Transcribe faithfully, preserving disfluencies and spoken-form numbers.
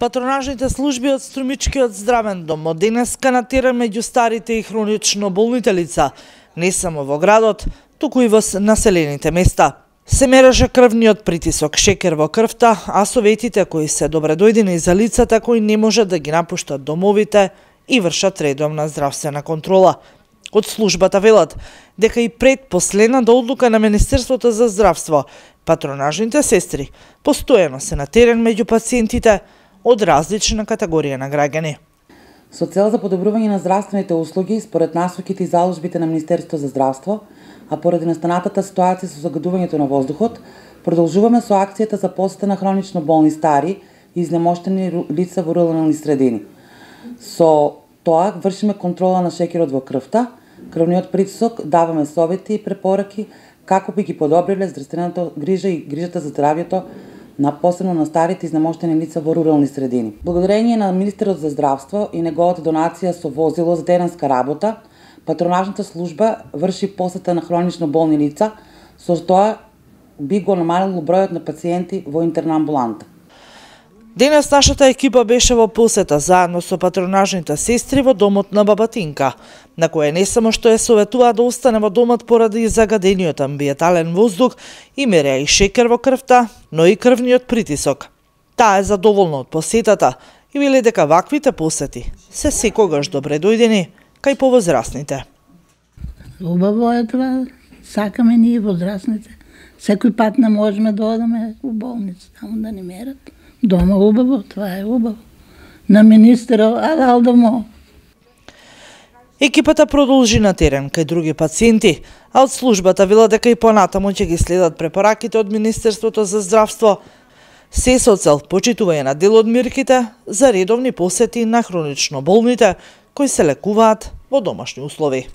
Патронажните служби од Струмичкиот здравен дом од денеска на терен меѓу старите и хронично болните лица, не само во градот, туку и во населените места. Се мереше крвниот притисок, шекер во крвта, а советите кои се добредојдени за лицата кои не можат да ги напуштат домовите и вршат редовна здравствена контрола. Од службата велат дека и пред последната одлука на Министерството за здравство, патронажните сестри постојано се на терен меѓу пациентите од различна категорија на граѓани. Со цел за подобрување на здравствените услуги, според насоките и заложбите на Министерството за здравство, а поради настанатата ситуација со загадувањето на воздухот, продолжуваме со акцијата за посета на хронично болни стари и изнемоштени лица во рурални средини. Со тоа вршиме контрола на шекерот во крвта, крвниот притисок, даваме совети и препораки како би ги подобриле здравствената грижа и грижата за здравјето на посебно на старите изнемоштени лица во рурални средини. Благодарение на Министерот за здравство и неговата донација со возило за теренска работа, патронажната служба врши посета на хронично болни лица, со тоа би го намалило бројот на пациенти во интернамбуланта. Денес нашата екипа беше во посета заедно со патронажните сестри во домот на баба Тинка, на која не само што ја советува да остане во домот поради загадениот амбиентален воздух и мереа и шекер во крвта, но и крвниот притисок. Таа е задоволна од посетата и вели дека ваквите посети се секогаш добредојдени кај повозрасните. Убаво е това, сакаме ние возрастните. Секој пат не можеме да одаме у болница, само да не мерат. Дома убаво, това е убаво. На министерот, а дал домо. Екипата продолжи на терен кај други пациенти, а од службата вела дека и понатаму ќе ги следат препораките од Министерството за здравство, се со цел почитување на дел од мерките за редовни посети на хронично болните кои се лекуваат во домашни услови.